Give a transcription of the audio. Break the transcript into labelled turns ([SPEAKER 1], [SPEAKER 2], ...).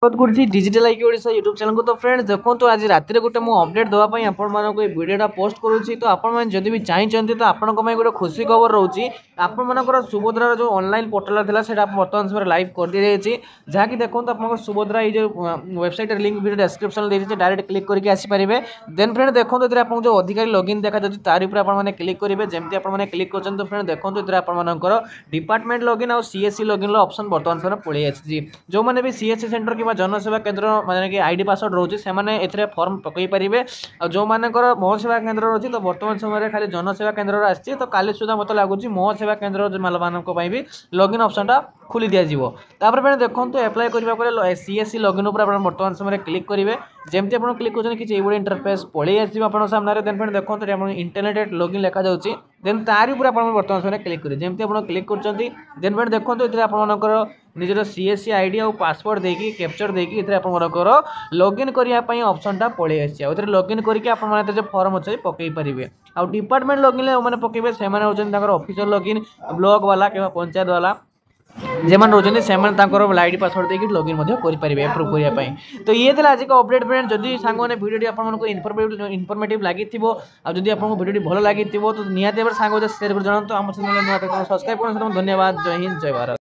[SPEAKER 1] ସ୍ୱାଗତ କରୁଛି digital ଆଇକି Odisha YouTube ଚ୍ୟାନେଲକୁ। ତ ଫ୍ରେଣ୍ଡ, ଦେଖନ୍ତୁ, ଆଜି ରାତିରେ ଗୋଟେ ମୁଁ ଅପଡେଟ୍ ଦେବା ପାଇଁ ଆପଣମାନଙ୍କୁ ଏ ଭିଡ଼ିଓଟା ପୋଷ୍ଟ କରୁଛି। ତ ଆପଣମାନେ ଯଦି ବି ଚାହିଁଛନ୍ତି, ତ ଆପଣଙ୍କ ପାଇଁ ଗୋଟେ ଖୁସି ଖବର ରହୁଛି। ଆପଣମାନଙ୍କର ସୁଭଦ୍ରାର ଯେଉଁ ଅନଲାଇନ୍ ପୋର୍ଟାଲ ଥିଲା, ସେଇଟା ବର୍ତ୍ତମାନ ସମୟରେ ଲାଇଭ୍ କରିଦିଆଯାଇଛି। ଯାହାକି ଦେଖନ୍ତୁ, ଆପଣଙ୍କର ସୁଭଦ୍ରା ଏଇ ଯେଉଁ ୱେବସାଇଟ୍ର ଲିଙ୍କ୍ ଭିଡ଼ିଓ ଡେସ୍କ୍ରିପ୍ସନ୍ ଦେଇଛି, ଡାଇରେକ୍ଟ କ୍ଲିକ୍ କରିକି ଆସିପାରିବେ। ଦେନ୍ ଫ୍ରେଣ୍ଡ, ଦେଖନ୍ତୁ, ଏଥିରେ ଆପଣଙ୍କୁ ଯେଉଁ ଅଧିକାରୀ ଲଗଇନ୍ ଦେଖାଯାଉଛି, ତାରି ଉପରେ ଆପଣମାନେ କ୍ଲିକ୍ କରିବେ। ଯେମିତି ଆପଣମାନେ କ୍ଲିକ୍ କରୁଛନ୍ତି, ତ ଫ୍ରେଣ୍ଡ ଦେଖନ୍ତୁ, ଏଥିରେ ଆପଣମାନଙ୍କର ଡିପାର୍ଟମେଣ୍ଟ ଲଗଇନ୍ ଆଉ ସିଏସ୍ସି ଲଗଇନ୍ର ଅପସନ୍ ବର୍ତ୍ତମାନ ସମୟରେ ପଳେଇ ଆସିଛି। ଯେଉଁମାନେ ବି ସିଏସ୍ସି ସେଣ୍ଟର କିମ୍ବା ଜନସେବା କେନ୍ଦ୍ର, ମାନେ କି ଆଇଡି ପାସୱାର୍ଡ଼ ରହୁଛି, ସେମାନେ ଏଥିରେ ଫର୍ମ ପକାଇ ପାରିବେ। ଆଉ ଯେଉଁମାନଙ୍କର ମୋ ସେବା କେନ୍ଦ୍ର ରହୁଛି, ତ ବର୍ତ୍ତମାନ ସମୟରେ ଖାଲି ଜନସେବା କେନ୍ଦ୍ରର ଆସିଛି। ତ କାଲି ସୁଦ୍ଧା ମୋତେ ଲାଗୁଛି ମୋ ସେବା କେନ୍ଦ୍ର ମାନଙ୍କ ପାଇଁ ବି ଲଗଇନ୍ ଅପସନ୍ଟା ଖୋଲି ଦିଆଯିବ। ତାପରେ ଫେଣି ଦେଖନ୍ତୁ, ଆପ୍ଲାଏ କରିବାକୁ ହେଲେ ସିଏସ୍ସି ଲଗଇନ୍ ଉପରେ ଆପଣ ବର୍ତ୍ତମାନ ସମୟରେ କ୍ଲିକ୍ କରିବେ। ଯେମିତି ଆପଣ କ୍ଲିକ୍ କରୁଛନ୍ତି, କିଛି ଏଇଭଳି ଇଣ୍ଟରଫେସ୍ ପଳେଇ ଆସିବ ଆପଣଙ୍କ ସାମ୍ନାରେ। ଦେନ୍ ଫେଣି ଦେଖନ୍ତୁ, ଏଠି ଆପଣ ଇଣ୍ଟରନେଟ୍ ଲଗଇନ୍ ଲେଖାଯାଉଛି। ଦେନ୍ ତାରି ଉପରେ ଆପଣ ବର୍ତ୍ତମାନ ସମୟରେ କ୍ଲିକ୍ କରିବେ। ଯେମିତି ଆପଣ କ୍ଲିକ୍ କରୁଛନ୍ତି, ଦେନ୍ ଫେଣି ଦେଖନ୍ତୁ, ଏଥିରେ ଆପଣମାନଙ୍କର ନିଜର ସିଏସ୍ସି ଆଇଡି ଆଉ ପାସୱାର୍ଡ଼ ଦେଇକି, କ୍ୟାପଚା ଦେଇକି, ଏଥିରେ ଆପଣଙ୍କର ଲଗଇନ୍ କରିବା ପାଇଁ ଅପସନ୍ଟା ପଳେଇ ଆସିଛି। ଆଉ ଏଥିରେ ଲଗଇନ୍ କରିକି ଆପଣମାନେ ଏଥିରେ ଯେଉଁ ଫର୍ମ ଅଛି ପକାଇ ପାରିବେ। ଆଉ ଡିପାର୍ଟମେଣ୍ଟ ଲଗଇନ୍ରେ ଯେଉଁମାନେ ପକାଇବେ, ସେମାନେ ହେଉଛନ୍ତି ତାଙ୍କର ଅଫିସର ଲଗଇନ୍, ବ୍ଲକ୍ ବାଲା କିମ୍ବା ପଞ୍ଚାୟତ ବାଲା ଯେମାନେ ରହୁଛନ୍ତି, ସେମାନେ ତାଙ୍କର ଆଇଡି ପାସୱାର୍ଡ଼ ଦେଇକି ଲଗଇନ୍ ମଧ୍ୟ କରିପାରିବେ ଆପ୍ରୁଭ୍ କରିବା ପାଇଁ। ତ ଇଏ ଥିଲା ଆଜିକା ଅପଡେଟ୍। ଫ୍ରେଣ୍ଡ, ଯଦି ସାଙ୍ଗମାନେ ଭିଡ଼ିଓଟି ଆପଣମାନଙ୍କୁ ଇନଫର୍ମେଟିଭ୍ ଲାଗିଥିବ ଆଉ ଯଦି ଆପଣଙ୍କୁ ଭିଡ଼ିଓଟି ଭଲ ଲାଗିଥିବ, ତ ନିହାତି ଭାବରେ ସାଙ୍ଗ ସେୟାର କରି ଜଣାନ୍ତୁ। ଆମ ଚ୍ୟାନେଲ୍ ନୂଆ ସବସ୍କ୍ରାଇବ୍ କରନ୍ତୁ। ଧନ୍ୟବାଦ। ଜୟ ହିନ୍ଦ, ଜୟ ଭାରତ।